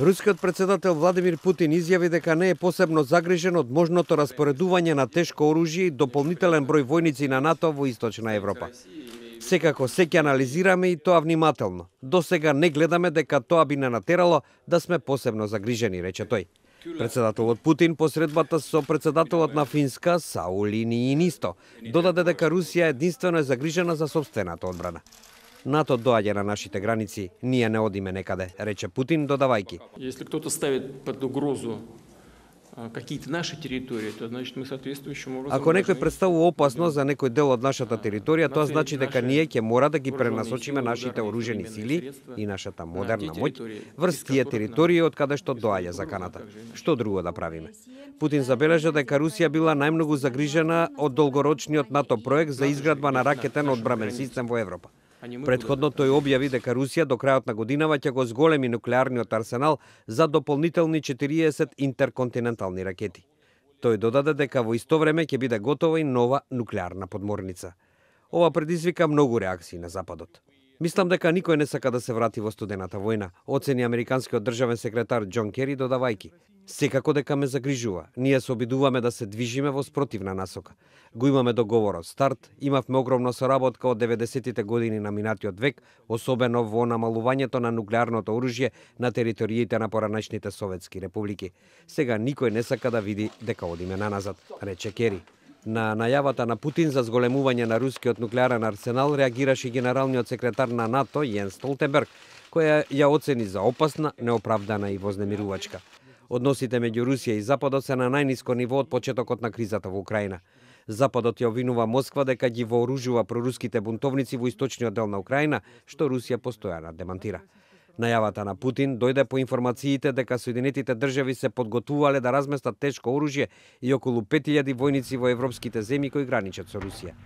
Рускиот председател Владимир Путин изјави дека не е посебно загрижен од можното распоредување на тешко оружје и дополнителен број војници на НАТО во Источна Европа. Секако се ќе анализираме и тоа внимателно. До сега не гледаме дека тоа би не натерало да сме посебно загрижени, рече тој. Председателот Путин посредбата со председателот на Финска Саули Ниинисто додаде дека Русија единствено е загрижена за сопствената одбрана. НАТО доаѓа на нашите граници, ние не одиме некаде, рече Путин, додавајќи. Если кто-то ставит под угрозу какие-то наши территории, то значит мы соответствующим образом. Ако некој представува опасност за некој дел од нашата територија, тоа значи дека ние ќе мора да ги пренасочиме нашите оружени сили и нашата модерна моќ врз тие територии од каде што доаѓа заканата. Што друго да правиме? Путин забележа дека Русија била најмногу загрижена од долгорочниот НАТО проект за изградба на ракетен одбрамен систем во Европа. Предходно тој објави дека Русија до крајот на годинава ќе го зголеми нуклеарниот арсенал за дополнителни 40 интерконтинентални ракети. Тој додаде дека во исто време ќе биде готова и нова нуклеарна подморница. Ова предизвика многу реакции на Западот. Мислам дека никој не сака да се врати во студената војна, оцени американскиот државен секретар Џон Кери, додавајќи. Секако дека ме загрижува. Ние се обидуваме да се движиме во спротивна насока. Го имаме договорот старт, имавме огромна соработка од 90-тите години на минатиот век, особено во намалувањето на нуклеарното оружје на териториите на поранешните советски републики. Сега никој не сака да види дека одиме наназад, рече Кери. На најавата на Путин за зголемување на рускиот нуклеарен арсенал реагираше генералниот секретар на НАТО Јенс Столтенберг, која ја оцени за опасна, неоправдана и вознемирувачка. Односите меѓу Русија и Западот се на најниско ниво од почетокот на кризата во Украина. Западот ја обвинува Москва дека ги вооружува проруските бунтовници во источниот дел на Украина, што Русија постојано демантира. Најавата на Путин дојде по информациите дека Соединетите држави се подготвувале да разместат тешко оружје и околу 5000 војници во европските земји кои граничат со Русија.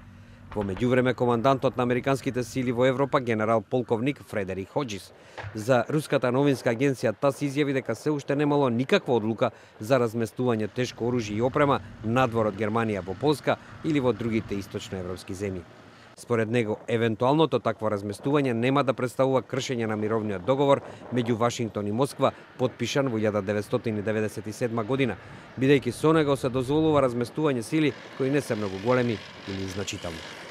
Во меѓувреме, командантот на американските сили во Европа, генерал полковник Фредерик Хоџис, за руската новинска агенција ТАСС изјави дека се уште немало никаква одлука за разместување тешко оружје и опрема надвор од Германија во Полска или во другите источноевропски земји. Според него, евентуалното такво разместување нема да представува кршење на мировниот договор меѓу Вашингтон и Москва, подпишан во 1997 година, бидејќи со него се дозволува разместување сили кои не се многу големи или значителни.